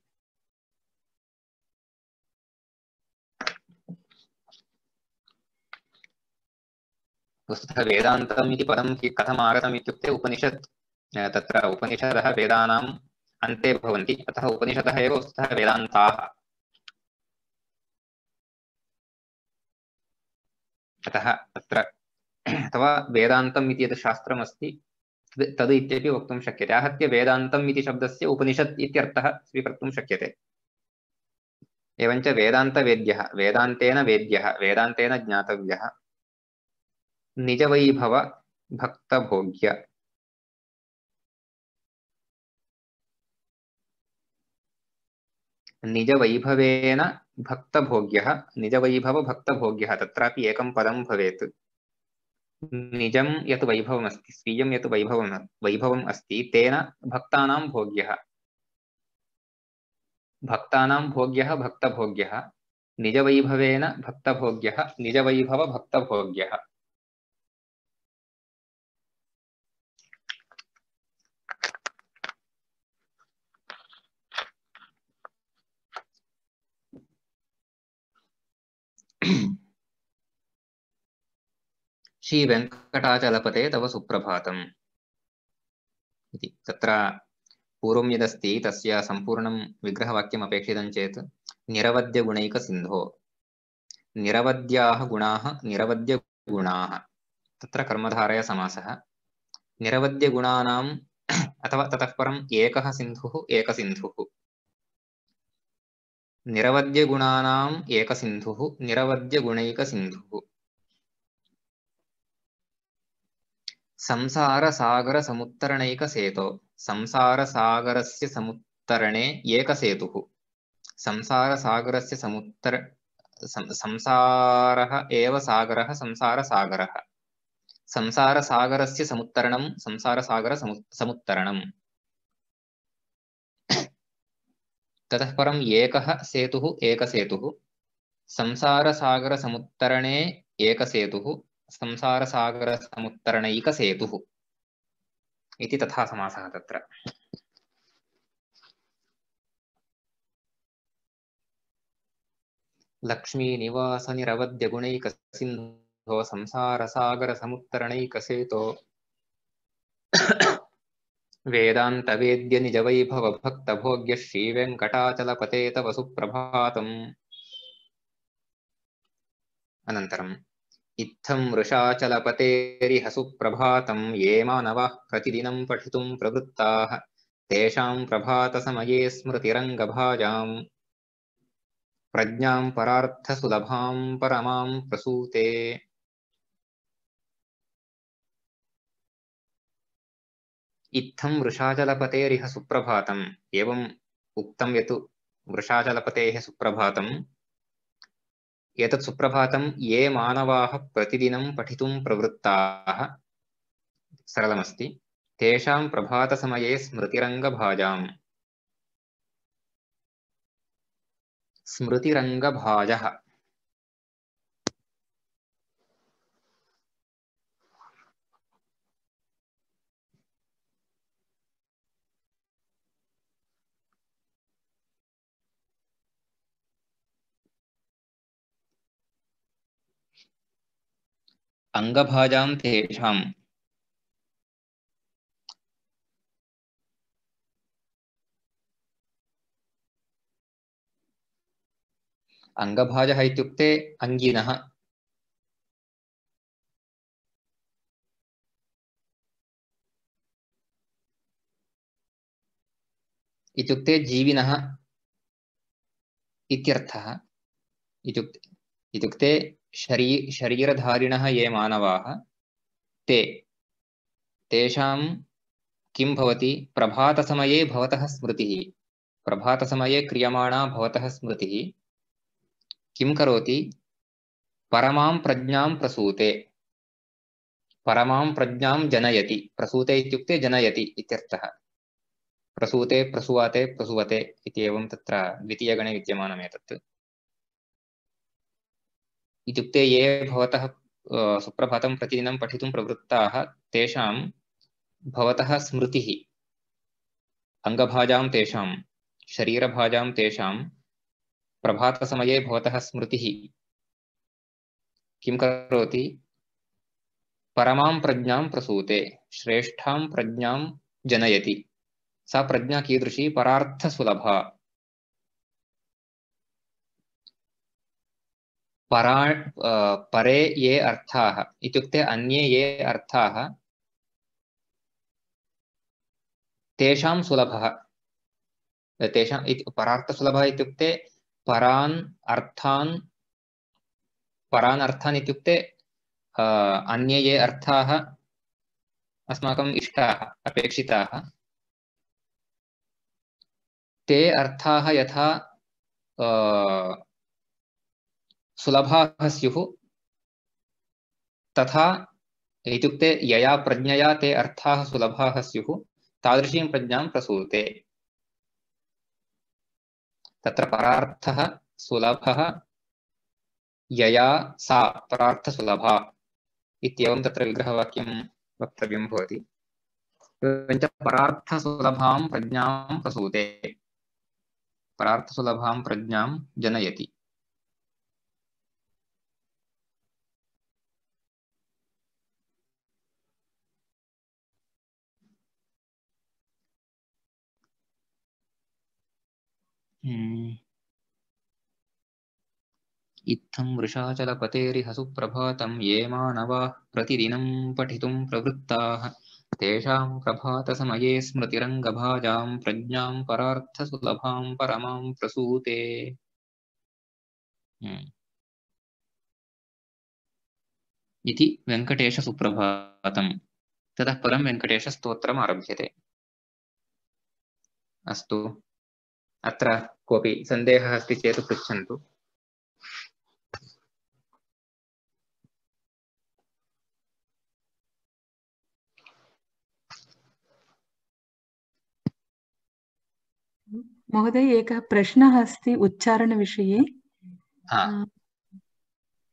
S1: वस्तुतः वेदान्तम् इति पदं कथम् आगतम् इत्युक्ते उपनिषत् तत्र उपनिषदः वेदानाम् अन्ते भवन्ति अतः उपनिषदः एव वस्तुतः वेदान्ताः अतः तत्र अथवा वेदान्तम् इति यत् शास्त्रमस्ति तद् इत्यपि वक्तुं शक्यते आहत्य वेदान्तम् इति शब्दस्य उपनिषत् इत्यर्थः स्वीकर्तुं शक्यते एवञ्च वेदान्तवेद्यः वेदान्तेन वेद्यः वेदान्तेन ज्ञातव्यः निजवैभव भक्तभोग्य निजवैभवेन भक्तभोग्यः निजवैभव भक्तभोग्यः तत्रापि एकं पदं भवेत् निजं यत् वैभवम् अस्ति स्वीयं यत् वैभवम् अस्ति तेन भक्तानां भोग्यः भक्तानां भोग्यः भक्तभोग्यः निजवैभवेन भक्तभोग्यः निजवैभव भक्तभोग्यः श्रीवेङ्कटाचलपते तव सुप्रभातम् इति तत्र पूर्वं यदस्ति तस्य सम्पूर्णं विग्रहवाक्यम् अपेक्षितं चेत् निरवध्यगुणैकसिन्धो निरवध्याः गुणाः निरवध्यगुणाः तत्र कर्मधारय समासः निरवध्यगुणानाम् अथवा ततः परम् एकः सिन्धुः एकसिन्धुः निरवध्यगुणानाम् एकसिन्धुः निरवध्यगुणैकसिन्धुः संसारसागरसमुत्तरणैकसेतो संसारसागरस्य समुत्तरणे एकसेतुः संसारसागरस्य संसारः एव सागरः संसारसागरः संसारसागरस्य समुत्तरणं संसारसागरसमुत्तरणम् ततः परम् एकः सेतुः एकसेतुः संसारसागरसमुत्तरणे एकसेतुः संसारसागरसमुत्तरणैकसेतुः इति तथा समासः तत्र लक्ष्मीनिवासनिरवध्यगुणैकसिन्धो संसारसागरसमुत्तरणैकसेतो वेदान्तवेद्य निजवैभवभक्तभोग्य श्रीवेङ्कटाचलपते तव सुप्रभातम् अनन्तरम् इत्थं वृषाचलपतेरिह सुप्रभातं ये मानवाः प्रतिदिनं पठितुं प्रवृत्ताः तेषां प्रभातसमये स्मृतिरङ्गभाजां प्रज्ञां परार्थसुलभां परमां प्रसूते इत्थं वृषाचलपतेरिह सुप्रभातम् एवम् उक्तं यत् वृषाचलपतेः सुप्रभातम् एतत् सुप्रभातं ये मानवाः प्रतिदिनं पठितुं प्रवृत्ताः सरलमस्ति तेषां प्रभातसमये स्मृतिरङ्गभाजाम् स्मृतिरङ्गभाजः अङ्गभाजां तेषाम् अङ्गभाजः इत्युक्ते अङ्गिनः इत्युक्ते जीविनः इत्यर्थः इत्युक्ते शरीरधारिणः ये मानवाः ते तेषां किं भवति प्रभातसमये भवतः स्मृतिः प्रभातसमये क्रियमाणा भवतः स्मृतिः किं करोति परमां प्रज्ञां प्रसूते परमां प्रज्ञां जनयति प्रसूते इत्युक्ते जनयति इत्यर्थः प्रसूते प्रसूवाते प्रसुवते इति एवं तत्र द्वितीयगणे विद्यमानम् एतत् इत्युक्ते ये भवतः सुप्रभातं प्रतिदिनं पठितुं प्रवृत्ताः तेषां भवतः स्मृतिः अङ्गभाजां तेषां शरीरभाजां तेषां प्रभातसमये भवतः स्मृतिः किं करोति परमां प्रज्ञां प्रसूते श्रेष्ठां प्रज्ञां जनयति सा प्रज्ञा कीदृशी परार्थसुलभा परे ये अर्थाः इत्युक्ते अन्ये ये अर्थाः तेषां सुलभः तेषां परार्थसुलभः इत्युक्ते परान् अर्थान् इत्युक्ते अन्ये ये अर्थाः अस्माकम् इष्टाः अपेक्षिताः ते अर्थाः यथा सुलभाः स्युः तथा इत्युक्ते यया प्रज्ञया ते अर्थाः सुलभाः स्युः तादृशीं प्रज्ञां प्रसूते तत्र परार्थः सुलभः यया सा परार्थसुलभा इत्येवं तत्र विग्रहवाक्यं वक्तव्यं भवति एवञ्च परार्थसुलभां प्रज्ञां प्रसूते परार्थसुलभां प्रज्ञां जनयति इत्थं वृषाचलपतेरिह सुप्रभातं ये मानवाः प्रतिदिनं पठितुं प्रवृत्ताः तेषां प्रभातसमये स्मृतिरङ्गभाजां प्रज्ञां परार्थसुलभां परमां प्रसूते इति वेङ्कटेशसुप्रभातं ततः परं वेङ्कटेशस्तोत्रम् आरभ्यते अस्तु अत्र कोऽपि सन्देहः अस्ति चेत् पृच्छन्तु
S2: महोदय एकः प्रश्नः अस्ति उच्चारणविषये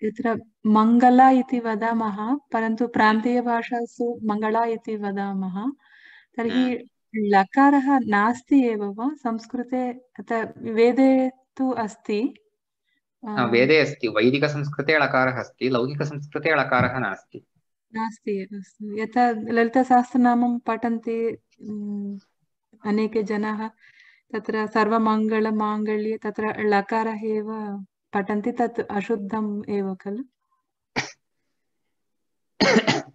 S2: यत्र मङ्गला इति वदामः परन्तु प्रान्तीयभाषासु मङ्गला इति वदामः तर्हि लकारः नास्ति एव वा संस्कृते वेदे तु अस्ति
S1: वेदे अस्ति वैदिकसंस्कृते ळकारः अस्ति लौकिकसंस्कृते ळकारः नास्ति
S2: यथा ललितासहस्रनामं पठन्ति अनेके जनाः तत्र सर्वमङ्गलमाङ्गल्ये तत्र लकारः एव पठन्ति तत् अशुद्धम् एव खलु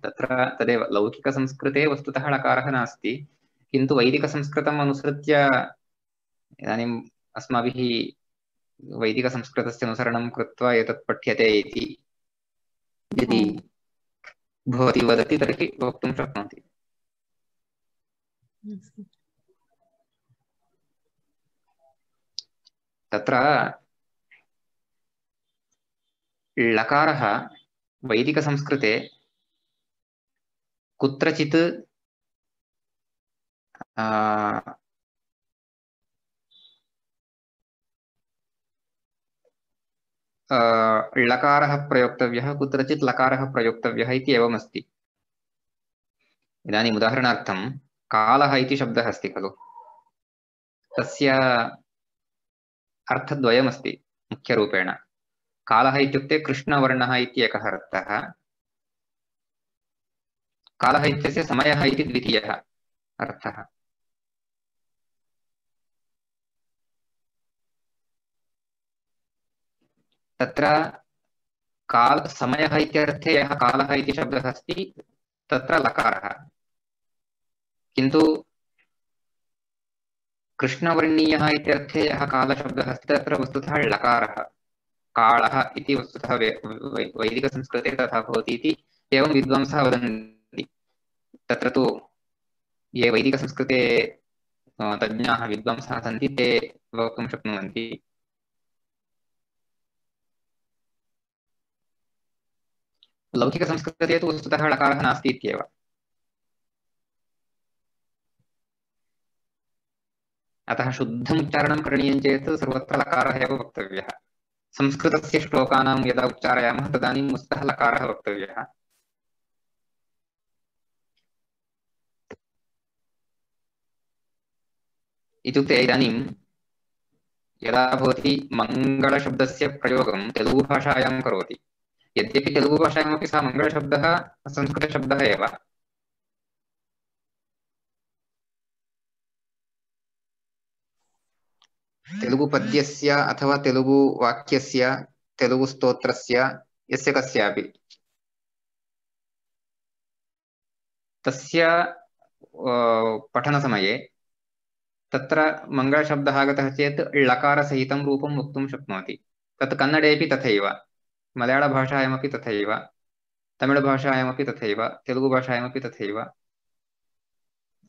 S1: तत्र तदेव लौकिकसंस्कृते वस्तुतः ळकारः नास्ति किन्तु वैदिकसंस्कृतम् अनुसृत्य इदानीम् अस्माभिः वैदिकसंस्कृतस्य अनुसरणं कृत्वा एतत् पठ्यते इति यदि भवती वदति तर्हि वक्तुं शक्नोति तत्र ळकारः वैदिकसंस्कृते कुत्रचित् ळकारः प्रयोक्तव्यः कुत्रचित् लकारः प्रयोक्तव्यः इति एवमस्ति इदानीम् उदाहरणार्थं कालः इति शब्दः अस्ति खलु तस्य अर्थद्वयमस्ति मुख्यरूपेण कालः इत्युक्ते कृष्णवर्णः इति एकः अर्थः कालः इत्यस्य समयः इति द्वितीयः अर्थः तत्र समयः इत्यर्थे यः कालः इति शब्दः अस्ति तत्र लकारः किन्तु कृष्णवर्णीयः इत्यर्थे यः कालशब्दः अस्ति तत्र वस्तुतः ळकारः कालः इति वस्तुतः वैदिकसंस्कृते तथा भवति इति एवं विद्वांसः वदन्ति तत्र तु ये वैदिकसंस्कृते तज्ञाः विद्वांसः सन्ति ते वक्तुं शक्नुवन्ति। लौकिकसंस्कृते तु वस्तुतः लकारः नास्ति इत्येव। अतः शुद्धम् उच्चारणं करणीयं चेत् सर्वत्र लकारः एव वक्तव्यः। संस्कृतस्य श्लोकानां यदा उच्चारयामः तदानीं वस्तुतः लकारः वक्तव्यः। इत्युक्ते इदानीं यदा भवती मङ्गलशब्दस्य प्रयोगं तेलुगुभाषायां करोति, यद्यपि तेलुगुभाषायामपि सः मङ्गलशब्दः संस्कृतशब्दः एव, तेलुगुपद्यस्य अथवा तेलुगुवाक्यस्य तेलुगुस्तोत्रस्य यस्य कस्यापि तस्य पठनसमये तत्र मङ्गलशब्दः आगतः चेत् ळकारसहितं रूपं वक्तुं शक्नोति। तत् कन्नडेपि तथैव, मलयाळभाषायामपि तथैव, तमिळभाषायामपि तथैव, तेलुगुभाषायामपि तथैव,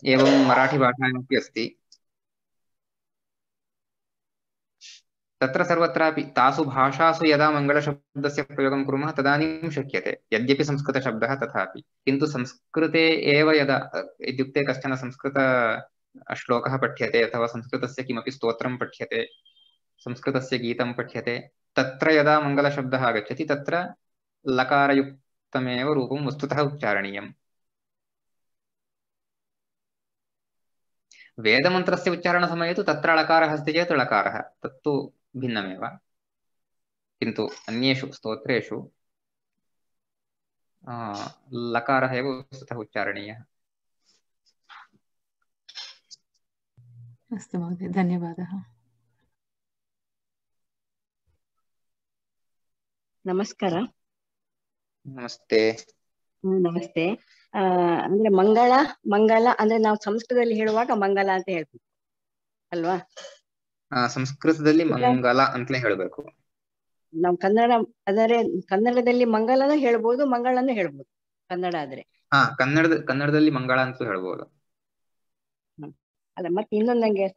S1: एवं मराठीभाषायामपि अस्ति। तत्र सर्वत्रापि तासु भाषासु यदा मङ्गलशब्दस्य प्रयोगं कुर्मः तदानीं शक्यते, यद्यपि संस्कृतशब्दः तथापि। किन्तु संस्कृते एव यदा इत्युक्ते कश्चन संस्कृत श्लोकः पठ्यते अथवा संस्कृतस्य किमपि स्तोत्रं पठ्यते, संस्कृतस्य गीतं पठ्यते, तत्र यदा मङ्गलशब्दः आगच्छति तत्र लकारयुक्तमेव रूपं वस्तुतः उच्चारणीयम्। वेदमन्त्रस्य उच्चारणसमये तु तत्र ळकारः अस्ति चेत् ळकारः, तत्तु भिन्नमेव। किन्तु अन्येषु स्तोत्रेषु लकारः एव वस्तुतः उच्चारणीयः।
S2: अस्तु महोदय, धन्यवादः।
S3: ನಮಸ್ಕಾರ.
S1: ನಮಸ್ತೆ.
S3: ನಮಸ್ತೆ. ಅಂದ್ರೆ ಮಂಗಲ ಅಂದ್ರೆ ನಾವು ಸಂಸ್ಕೃತದಲ್ಲಿ ಹೇಳುವಾಗ ಮಂಗಲ ಅಂತ ಹೇಳ್ತೀವಿ ಅಲ್ವಾ?
S1: ಸಂಸ್ಕೃತದಲ್ಲಿ ಮಂಗಲ ಅಂತಲೇ ಹೇಳಬೇಕು.
S3: ನಾವು ಕನ್ನಡದಲ್ಲಿ ಮಂಗಲನ ಹೇಳ್ಬೋದು, ಮಂಗಳನ್ನು ಹೇಳ್ಬೋದು ಕನ್ನಡ ಆದ್ರೆ.
S1: ಕನ್ನಡದಲ್ಲಿ ಮಂಗಳ ಅಂತ ಹೇಳ್ಬೋದು.
S3: ಅಲ್ಲ, ಮತ್ತೆ ಇನ್ನೊಂದು ನಂಗೆ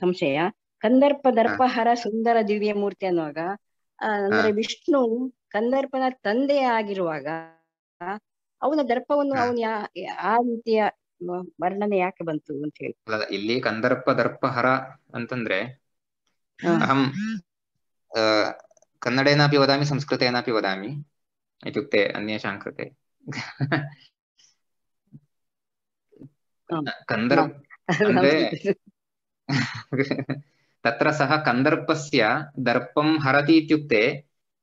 S3: ಸಂಶಯ. ಕಂದರ್ಪ ದರ್ಪಹರ ಸುಂದರ ದಿವ್ಯ ಮೂರ್ತಿ ಅನ್ನುವಾಗ ಅಂದ್ರೆ ವಿಷ್ಣು ಕಂದರ್ಪನ ತಂದೆ ಆಗಿರುವಾಗ ಅವನ ದರ್ಪವನ್ನು ಅವನು ಆ ರೀತಿಯ ವರ್ಣನೆ ಯಾಕೆ ಬಂತು ಅಂತ ಹೇಳಿ.
S1: ಇಲ್ಲಿ ಕಂದರ್ಪ ದರ್ಪಹರ ಅಂತಂದ್ರೆ ಅಹಂ ಕನ್ನಡೇನಾಪಿ ವದಾಮಿ ಸಂಸ್ಕೃತೇನಾಪಿ ವದಾಮಿ ಇತ್ಯುಕ್ತೆ ಅನ್ಯೇಷಾಂ ಕೃತೆ ಕಂದರ್ಪ ಅಂದ್ರೆ तत्र सः कन्दर्पस्य दर्पं हरति इत्युक्ते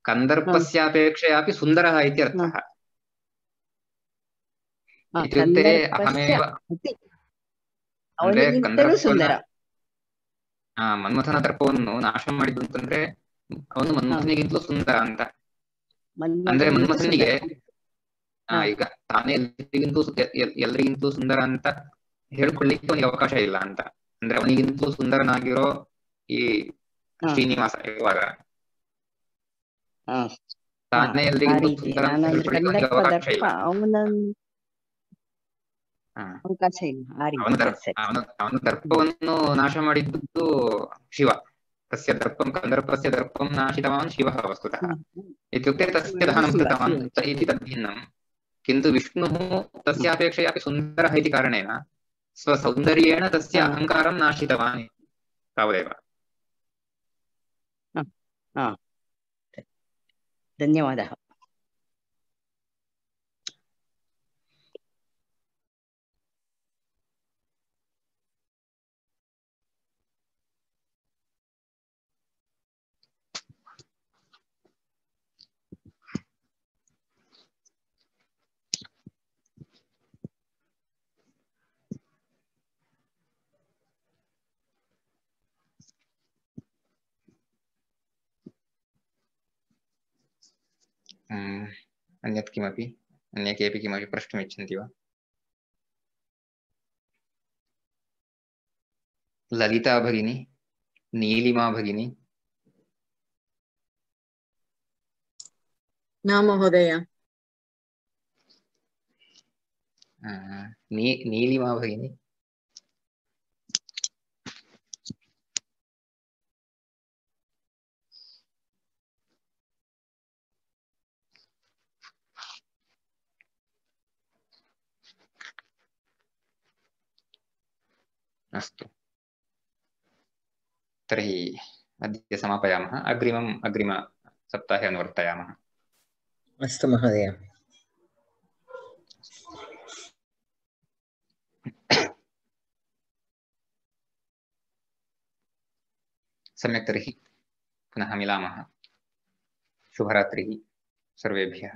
S1: कन्दर्पस्यापेक्षयापि सुन्दरः इति अर्थः। इत्युक्ते अहमेव ಅಂದ್ರೆ ಮನ್ಮಥನ ದರ್ಪವನ್ನು ನಾಶ ಮಾಡಿದ್ದು ಅಂತಂದ್ರೆ ಅವನು ಮನ್ಮಥನಿಗಿಂತಲೂ ಸುಂದರ ಅಂತ. ಅಂದ್ರೆ ಮನ್ಮಥನಿಗೆ ಈಗ ತಾನೇ ಎಲ್ರಿಗಿಂತಲೂ ಸುಂದರ ಅಂತ ಹೇಳ್ಕೊಳ್ಳಿಕ್ಕೆ ಅವನಿಗೆ ಅವಕಾಶ ಇಲ್ಲ ಅಂತ. ಅಂದ್ರೆ ಅವನಿಗಿಂತಲೂ ಸುಂದರನಾಗಿರೋ ಈ ಶ್ರೀನಿವಾಸ ಇರುವಾಗ ತಾನೇ ಎಲ್ರಿಗಿಂತಲೂ ಸುಂದರ ಅಂತ ಹೇಳ್ಕೊಳ್ಳಿಕ್ಕೆ ಅವಕಾಶ ಇಲ್ಲ. ಅವನ ದರ್ಪವನ್ನು ನಾಶ ಮಾಡಿದ್ದು ಶಿವ. ತಸ್ಯ ದರ್ಪಂ ಕಂದರ್ಪಸ್ಯ ದರ್ಪಂ ನಾಶಿತವಾನ್ ಶಿವಃ ವಸ್ತುತಃ ಇತ್ಯುಕ್ತೆ ತಸ್ಯ ದಹನಂ ಕೃತವಾನ್ ಇತಿ ತದ್ಭಿನ್ನಂ. किन्तु विष्णुः तस्यापेक्षयापि सुन्दरः इति कारणेन स्वसौन्दर्येण तस्य अहङ्कारं नाशितवान् तावदेव।
S3: धन्यवादः।
S1: अन्यत् किमपि अन्ये केऽपि किमपि प्रष्टुमिच्छन्ति वा? ललिता भगिनी, नीलिमा भगिनी।
S4: न महोदय।
S1: नीलिमा भगिनी अस्तु तर्हि अद्य समापयामः अग्रिमसप्ताहे अनुवर्तयामः
S4: अस्तु महोदय
S1: सम्यक् तर्हि पुनः मिलामः शुभरात्रिः सर्वेभ्यः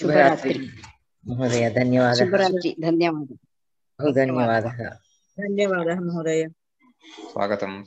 S3: शुभरात्रि
S4: महोदय धन्यवादः
S3: शुभरात्रि धन्यवादः
S4: बहु धन्यवादः
S5: धन्यवादः महोदय
S1: स्वागतं